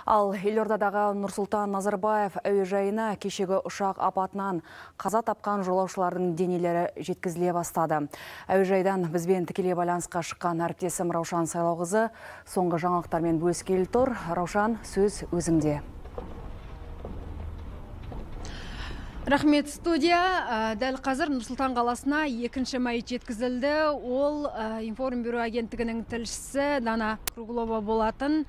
Ал Елордадағы Нұрсұлтан Назарбаев әуежайына кешегі ұшақ апатынан қаза тапқан жолаушылардың денелері жеткізіле бастады. Әуежайдан бізбен тікелей байланысқа шыққан әріптесім Раушан Сайлауқызы соңғы жаңалықтармен бөліскелі тұр. Раушан, сөз өзіңде. Рахмет, студия. Дәл қазір Нұрсұлтан қаласына екінші мәйіт жеткізілді. Ол информбюро агенттігінің тілшісі Дана Круглова болатын.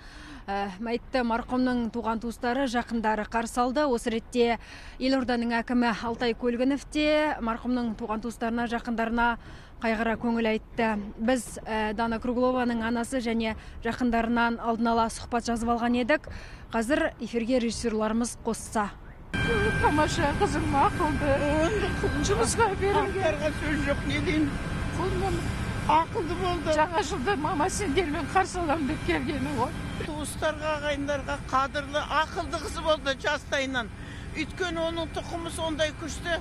Мәйітті марқұмның туған туыстары, жақындары қарсы алды. Осы ретте Елорданың әкімі Алтай Көлгінов те марқұмның туған туыстарына, жақындарына қайғыра көңіл айтты. Біз Дана Круглованың анасы және жақындарынан алдын ала сұхбат жазып алған едік. Қазір эфирге режиссерларымыз қосса. Тамаша, қызым ақылды, жұмысқа берілген. Сөз жоқ, не дейін? Ақылды болды. Жаңа жылда мама сендермен қарсы аламын деп келгені ғой. Туыстарға, ағайындарға қадірлі, ақылды қызы болды жастайынан. Өйткені оның тұқымы сондай күшті.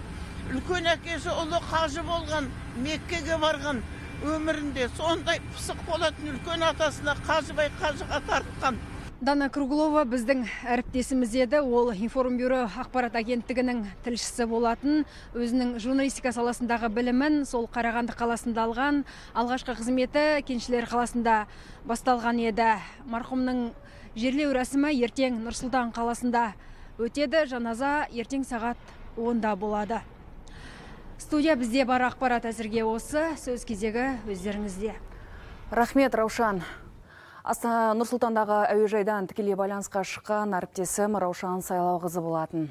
Үлкен әкесі ұлы қажы болған, Меккеге барған өмірінде сондай пысық болатын үлкен атасына Қажыбай қажыға тартқан. Дана Круглова біздің әріптесіміз еді. Ол информбюро ақпарат агенттігінің тілшісі болатын. Өзінің журналистика саласындағы білімін сол Қарағанды қаласында алған. Алғашқы қызметі Кеншілер қаласында басталған еді. Марқұмның жерлеу рәсімі ертең Нұрсұлтан қаласында өтеді. Жаназа ертең сағат 10-да болады. Студия, бізде бар ақпарат әзірге осы. Сөз кезегі өздеріңізде. Рахмет, Раушан. Нұрсұлтандағы әуежайдан тікелей байланысқа шыққан әріптесім Раушан Сайлауқызы болатын.